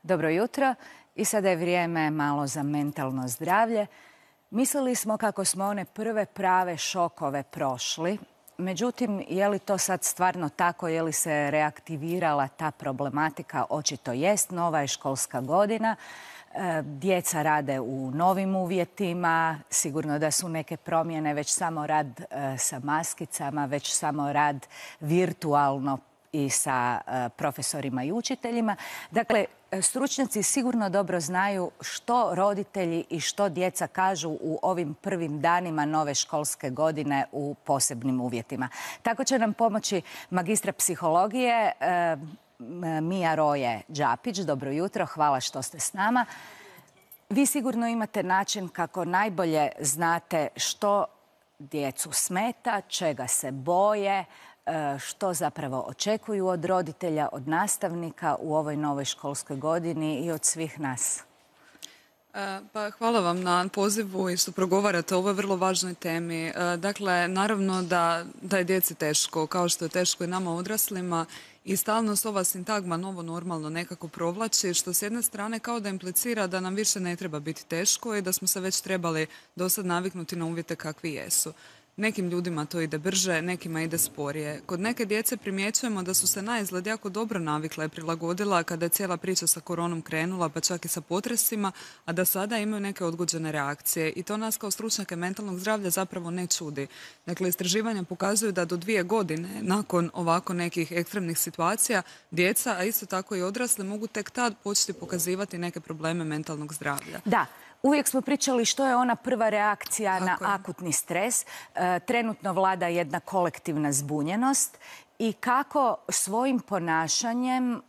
Dobro jutro i sada je vrijeme malo za mentalno zdravlje. Mislili smo kako smo one prve prave šokove prošli. Međutim, je li to sad stvarno tako, je li se reaktivirala ta problematika? Očito jest, nova je školska godina. Djeca rade u novim uvjetima, sigurno da su neke promjene, već samo rad sa maskicama, već samo rad virtualno i sa profesorima i učiteljima. Dakle, stručnjaci sigurno dobro znaju što roditelji i što djeca kažu u ovim prvim danima nove školske godine u posebnim uvjetima. Tako će nam pomoći magistra psihologije Mija Roje Đapić. Dobro jutro, hvala što ste s nama. Vi sigurno imate način kako najbolje znate što djecu smeta, čega se boje, što zapravo očekuju od roditelja, od nastavnika u ovoj novoj školskoj godini i od svih nas. Pa hvala vam na pozivu i što progovarate o ovoj vrlo važnoj temi. Dakle, naravno da je djeci teško, kao što je teško i nama odraslima, i stalno se ova sintagma novo normalno nekako provlači, što s jedne strane kao da implicira da nam više ne treba biti teško i da smo se već trebali do sad naviknuti na uvjete kakvi jesu. Nekim ljudima to ide brže, nekima ide sporije. Kod neke djece primjećujemo da su se naizgled jako dobro navikla i prilagodila kada je cijela priča sa koronom krenula, pa čak i sa potresima, a da sada imaju neke odgođene reakcije. I to nas kao stručnjake mentalnog zdravlja zapravo ne čudi. Dakle, istraživanja pokazuju da do 2 godine nakon ovako nekih ekstremnih situacija, djeca, a isto tako i odrasli, mogu tek tad početi pokazivati neke probleme mentalnog zdravlja. Da. Uvijek smo pričali što je ona prva reakcija na akutni stres. Trenutno vlada jedna kolektivna zbunjenost i kako svojim ponašanjem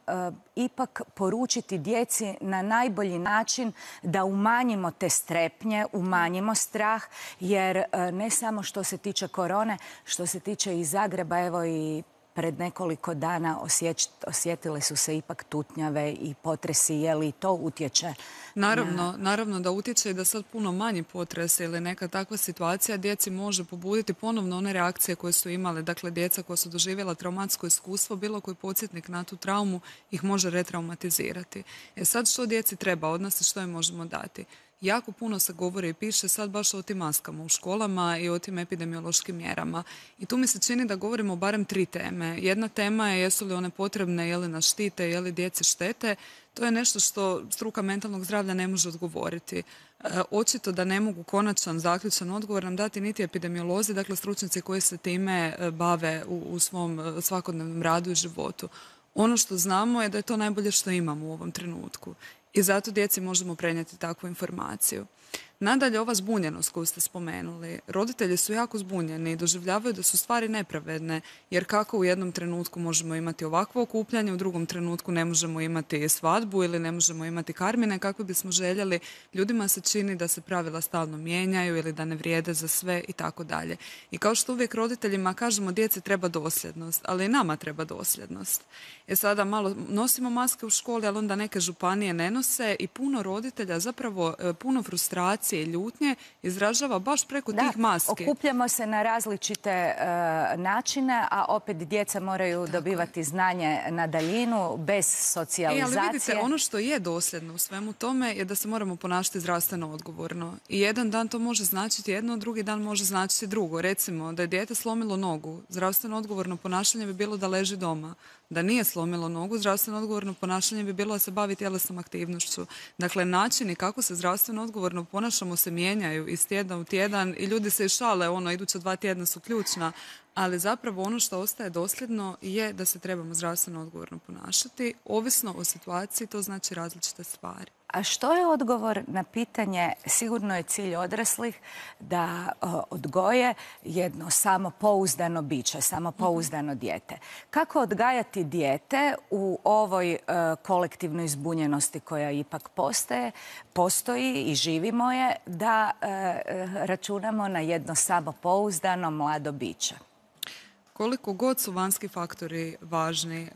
ipak poručiti djeci na najbolji način da umanjimo te strepnje, umanjimo strah, jer ne samo što se tiče korone, što se tiče i Zagreba, evo i pred nekoliko dana osjetile su se ipak tutnjave i potresi. Je li to utječe? Naravno da utječe i da sad puno manji potres ili neka takva situacija djeci može pobuditi ponovno one reakcije koje su imale. Dakle, djeca koja su doživjela traumatsko iskustvo, bilo koji podsjetnik na tu traumu ih može retraumatizirati. Sad što djeci treba od nas i što im možemo dati? Jako puno se govori i piše sad baš o tim maskama u školama i o tim epidemiološkim mjerama. I tu mi se čini da govorimo o barem 3 teme. Jedna tema je jesu li one potrebne, je li nas štite, je li djeci štete. To je nešto što struka mentalnog zdravlja ne može odgovoriti. Očito da ne mogu konačan, zaključan odgovor nam dati niti epidemiolozi, dakle stručnjaci koji se time bave u svom svakodnevnom radu i životu. Ono što znamo je da je to najbolje što imamo u ovom trenutku. I zato djeci možemo prenijeti takvu informaciju. Nadalje, ova zbunjenost koju ste spomenuli. Roditelji su jako zbunjeni i doživljavaju da su stvari nepravedne, jer kako u jednom trenutku možemo imati ovakvo okupljanje, u drugom trenutku ne možemo imati svadbu ili ne možemo imati karmine kako bismo željeli. Ljudima se čini da se pravila stalno mijenjaju ili da ne vrijede za sve i tako dalje. I kao što uvijek roditeljima kažemo, djeci treba dosljednost, ali i nama treba dosljednost. Sada malo nosimo maske u školi, ali onda neke županije ne nose i puno roditelja, zapravo puno frustracije i ljutnje izražava baš preko tih maski. Okupljamo se na različite načine, a opet djeca moraju dobivati znanje na daljinu, bez socijalizacije. Ali vidite, ono što je dosljedno u svemu tome je da se moramo ponašati zdravstveno odgovorno. I jedan dan to može značiti jedno, drugi dan može značiti drugo. Recimo, da je dijete slomilo nogu, zdravstveno odgovorno ponašanje bi bilo da leži doma. Da nije slomilo nogu, zdravstveno odgovorno ponašanje bi bilo da se bavi tjelesnom aktivnošću. Dakle, načini kako se zdravstveno odgovorno ponašamo se mijenjaju iz tjedna u tjedan i ljudi se i šale, iduća 2 tjedna su ključna, ali zapravo ono što ostaje dosljedno je da se trebamo zdravstveno odgovorno ponašati. Ovisno o situaciji, to znači različite stvari. A što je odgovor na pitanje, sigurno je cilj odraslih da odgoje jedno samopouzdano biće, samopouzdano dijete. Kako odgajati dijete u ovoj kolektivnoj zbunjenosti koja ipak postoji i živimo je, da računamo na jedno samopouzdano mlado biće? Koliko god su vanjski faktori važni,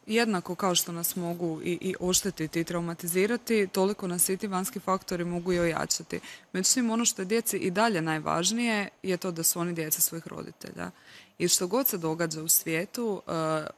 jednako kao što nas mogu i oštetiti i traumatizirati, toliko nas i ti vanjski faktori mogu i ojačati. Međutim, ono što je djeci i dalje najvažnije je to da su oni djeca svojih roditelja. I što god se događa u svijetu,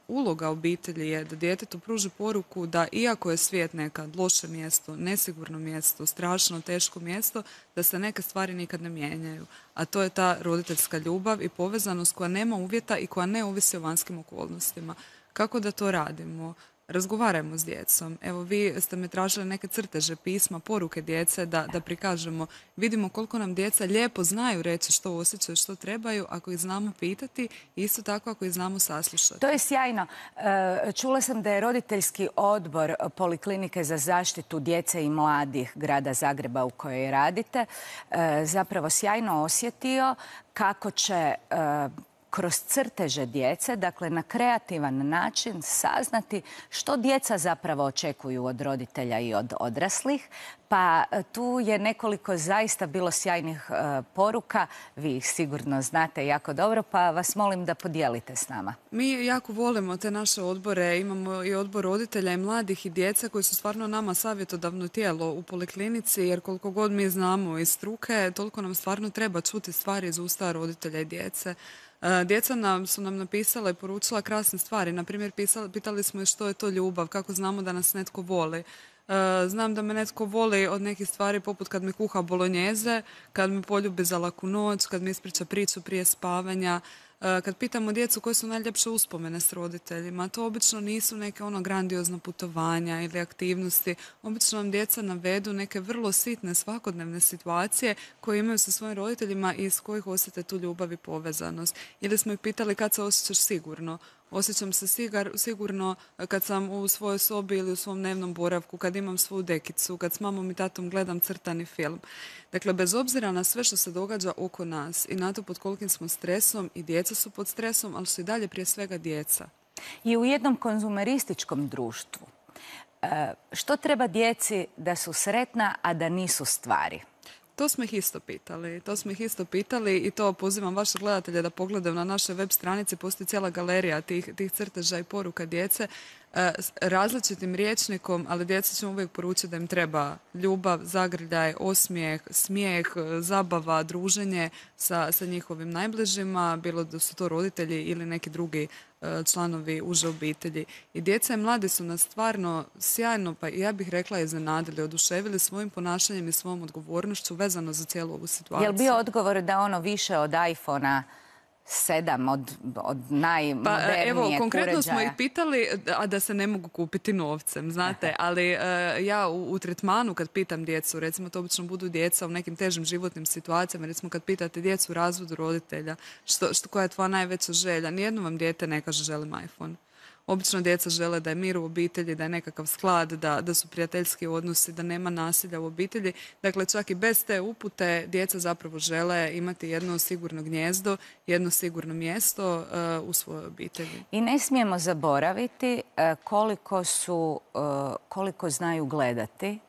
uloga obitelji je da djetetu pruži poruku da iako je svijet nekad loše mjesto, nesigurno mjesto, strašno, teško mjesto, da se neke stvari nikad ne mijenjaju. A to je ta roditeljska ljubav i povezanost koja nema uvjeta i koja ne ovisi o vanjskim okolnostima. Kako da to radimo? Razgovarajmo s djecom. Evo, vi ste me tražili neke crteže, pisma, poruke djece da prikažemo. Vidimo koliko nam djeca lijepo znaju reći što osjećaju, što trebaju, ako ih znamo pitati i isto tako ako ih znamo saslušati. To je sjajno. Čula sam da je roditeljski odbor Poliklinike za zaštitu djece i mladih grada Zagreba u kojoj radite zapravo sjajno osjetio kako će kroz crteže djece, dakle na kreativan način saznati što djeca zapravo očekuju od roditelja i od odraslih. Pa tu je nekoliko zaista bilo sjajnih poruka. Vi ih sigurno znate jako dobro, pa vas molim da podijelite s nama. Mi jako volimo te naše odbore. Imamo i odbor roditelja i mladih i djece koji su stvarno nama savjetodavno tijelo u poliklinici, jer koliko god mi znamo iz struke, toliko nam stvarno treba čuti stvari iz usta roditelja i djece. Djeca su nam napisala i poručila krasne stvari. Naprimjer, pitali smo što je to ljubav, kako znamo da nas netko voli. Znam da me netko voli od nekih stvari poput kad mi kuha bolonjeze, kad me poljubi za laku noć, kad mi ispriča priču prije spavanja. Kad pitamo djecu koje su najljepše uspomene s roditeljima, to obično nisu neke grandiozna putovanja ili aktivnosti. Obično vam djeca navedu neke vrlo sitne svakodnevne situacije koje imaju sa svojim roditeljima i iz kojih osjete tu ljubav i povezanost. Ili smo ih pitali kad se osjećaš sigurno. Osjećam se sigurno kad sam u svojoj sobi ili u svom dnevnom boravku, kad imam svoju dekicu, kad s mamom i tatom gledam crtani film. Dakle, bez obzira na sve što se događa oko nas i na to pod kolikim smo stresom, i djeca su pod stresom, ali su i dalje prije svega djeca. I u jednom konzumerističkom društvu, što treba djeci da su sretna, a da nisu stvari? To smo ih isto pitali i to pozivam vaše gledatelje da pogledaju na našoj web stranici. Postoji cijela galerija tih crteža i poruka djece različitim rječnikom, ali djeca ćemo uvijek poručiti da im treba ljubav, zagrljaj, osmijeh, smijeh, zabava, druženje sa njihovim najbližima, bilo da su to roditelji ili neki drugi članovi uže obitelji. I djeca i mladi su nas stvarno sjajno, pa ja bih rekla iznenadili, oduševili svojim ponašanjem i svojom odgovornošću vezano za cijelu ovu situaciju. Je li bio odgovor da ono više od iPhone-a 7 od najmodernijeg Evo, konkretno uređaja? smo ih pitali, a da se ne mogu kupiti novcem, znate, ali ja u tretmanu kad pitam djecu, recimo to obično budu djeca u nekim težim životnim situacijama, recimo kad pitate djecu u razvodu roditelja, koja je tvoja najveća želja, nijedno vam dijete ne kaže želim iPhone. Obično djeca žele da je mir u obitelji, da je nekakav sklad, da su prijateljski odnosi, da nema nasilja u obitelji. Dakle, čak i bez te upute djeca zapravo žele imati jedno sigurno gnijezdo, jedno sigurno mjesto u svojoj obitelji. I ne smijemo zaboraviti koliko znaju gledati.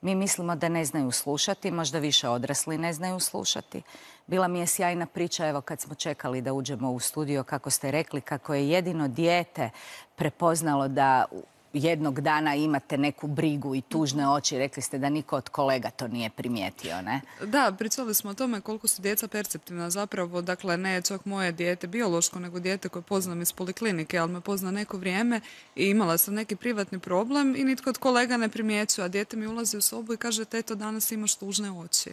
Mi mislimo da ne znaju slušati, možda više odrasli ne znaju slušati. Bila mi je sjajna priča, evo kad smo čekali da uđemo u studio, kako ste rekli, kako je jedino dijete prepoznalo da jednog dana imate neku brigu i tužne oči. Rekli ste da niko od kolega to nije primijetio, ne? Da, pričali smo o tome koliko su djeca perceptivna zapravo. Dakle, ne čak moje dijete biološko, nego dijete koje poznam iz poliklinike, ali me pozna neko vrijeme i imala sam neki privatni problem i nitko od kolega ne primjećuje, a dijete mi ulazi u sobu i kaže, teto, danas imaš tužne oči.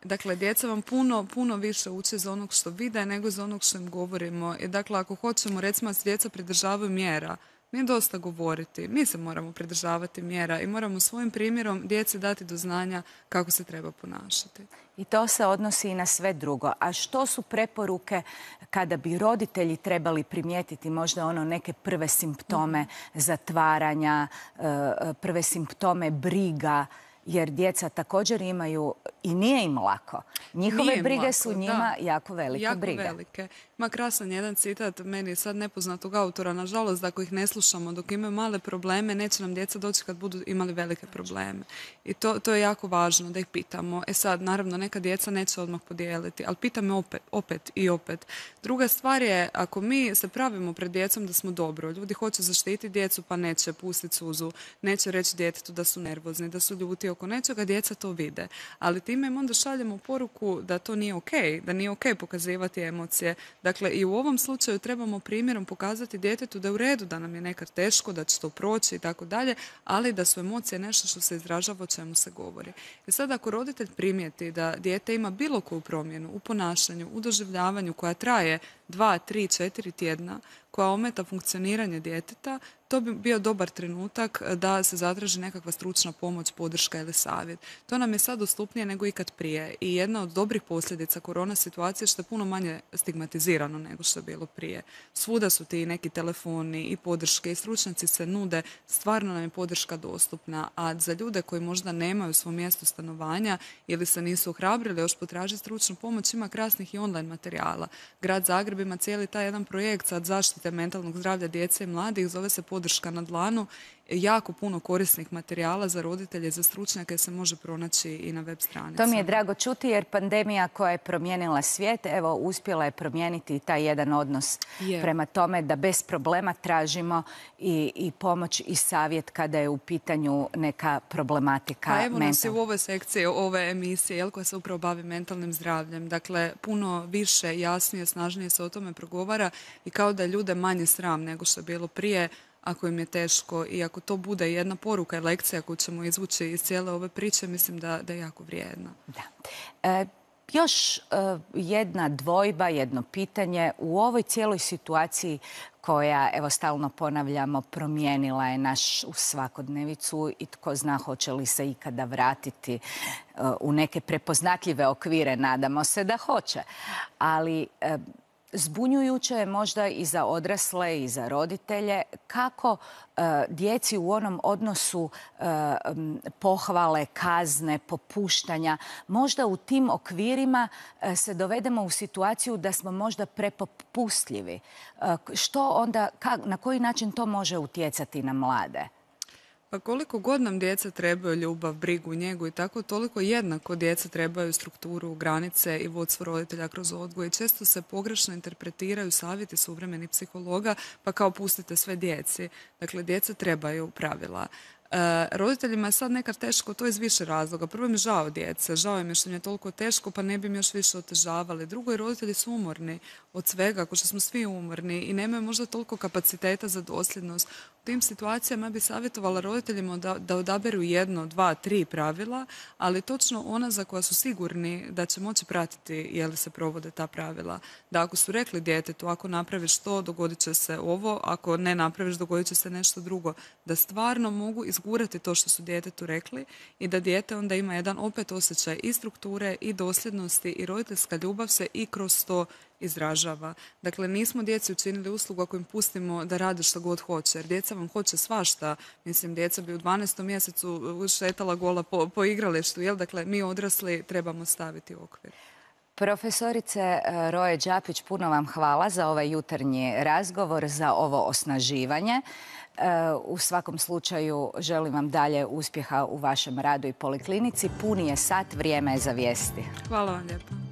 Dakle, djeca vam puno više uče za onog što vide nego za onog što im govorimo. I dakle, ako hoćemo, recimo, da se djeca pridržavaju mjera, nije dosta govoriti. Mi se moramo pridržavati mjera i moramo svojim primjerom djeci dati do znanja kako se treba ponašati. I to se odnosi i na sve drugo. A što su preporuke kada bi roditelji trebali primijetiti možda neke prve simptome zatvaranja, prve simptome briga, jer djeca također imaju i nije im lako. Njihove brige su njima jako velike brige. Jako velike. Ima krasan jedan citat meni sad nepoznatog autora, nažalost, da ako ih ne slušamo dok imaju male probleme, neće nam djeca doći kad budu imali velike probleme. I to je jako važno da ih pitamo. Sad, naravno, neka djeca neće odmah podijeliti, ali pitame opet i opet. Druga stvar je, ako mi se pravimo pred djecom da smo dobro, ljudi hoće zaštiti djecu pa neće pustiti suzu, neće reći djetetu da su nervozni, da su ljuti oko nečega, djeca to vide. Ali time im onda šaljemo poruku da to nije okej, da nije okej pokazivati emocije. Dakle, i u ovom slučaju trebamo primjerom pokazati djetetu da je u redu, da nam je nekad teško, da će to proći i tako dalje, ali da su emocije nešto što se izražava, o čemu se govori. I sad ako roditelj primijeti da dijete ima bilo koju promjenu u ponašanju, u doživljavanju koja traje 2, 3, 4 tjedna, koja ometa funkcioniranje djeteta, to bi bio dobar trenutak da se zatraži nekakva stručna pomoć, podrška ili savjet. To nam je sad dostupnije nego ikad prije i jedna od dobrih posljedica korona situacije što je puno manje stigmatizirano nego što je bilo prije. Svuda su ti neki telefoni i podrške i stručnjaci se nude, stvarno nam je podrška dostupna, a za ljude koji možda nemaju svoje mjesto stanovanja ili se nisu ohrabrili još potražiti stručnu pomoć, ima krasnih i online materijala. Grad Zagreb ima cijeli taj jedan projekt sad zaštite mentalnog zdravlja djece i mladih, zove se Podrška na dlanu. Jako puno korisnih materijala za roditelje i za stručnjake se može pronaći i na web stranicama. To mi je drago čuti jer pandemija koja je promijenila svijet, evo, uspjela je promijeniti taj jedan odnos prema tome da bez problema tražimo i pomoć i savjet kada je u pitanju neka problematika Pa evo nas i u ovoj sekciji ove emisije koja se upravo bavi mentalnim zdravljem. Dakle, puno više, jasnije, snažnije se o tome progovara i kao da je ljude manje sram nego što je bilo prije ako im je teško i ako to bude jedna poruka i lekcija koju ćemo izvući iz cijele ove priče, mislim da je jako vrijedna. Da. Još jedna dvojba, jedno pitanje. U ovoj cijeloj situaciji koja, evo stalno ponavljamo, promijenila je našu svakodnevicu i tko zna hoće li se ikada vratiti u neke prepoznatljive okvire, nadamo se da hoće. Ali zbunjujuće je možda i za odrasle i za roditelje kako djeci u onom odnosu pohvale, kazne, popuštanja, možda u tim okvirima se dovedemo u situaciju da smo možda prepopustljivi. Što onda, na koji način to može utjecati na mlade? Pa koliko god nam djeca trebaju ljubav, brigu, njegu i tako, toliko jednako djeca trebaju strukturu, granice i vodstvo roditelja kroz odgoj. Često se pogrešno interpretiraju savjeti suvremenih psihologa, pa kao pustite sve djeci. Dakle, djeca trebaju pravila. Roditeljima je sad nekad teško to iz više razloga. Prvo im je žao djece, žao im je što im je toliko teško pa ne bi im još više otežavali. Drugo, i roditelji su umorni od svega, ako što smo svi umorni i nemaju možda toliko kapaciteta za dosljednost. U tim situacijama bi savjetovala roditeljima da odaberu 1, 2, 3 pravila, ali točno ona za koja su sigurni da će moći pratiti je li se provode ta pravila. Da ako su rekli djetetu, ako napraviš to, dogodit će se ovo, ako ne napraviš, dogodit će se nešto drugo. Da stvarno mogu izgurati to što su djetetu rekli i da dijete onda ima jedan opet osjećaj i strukture i dosljednosti i roditeljska ljubav se i kroz to izražava. Dakle, nismo djeci učinili uslugu ako im pustimo da rade što god hoće, jer djeca vam hoće svašta. Mislim, djeca bi u 12. mjesecu šetala gola po igralištu, jel? Dakle, mi odrasli trebamo staviti okvir. Profesorice Roje Đapić, puno vam hvala za ovaj jutarnji razgovor, za ovo osnaživanje. U svakom slučaju želim vam dalje uspjeha u vašem radu i poliklinici. Puni je sat, vrijeme je za vijesti. Hvala vam lijepo.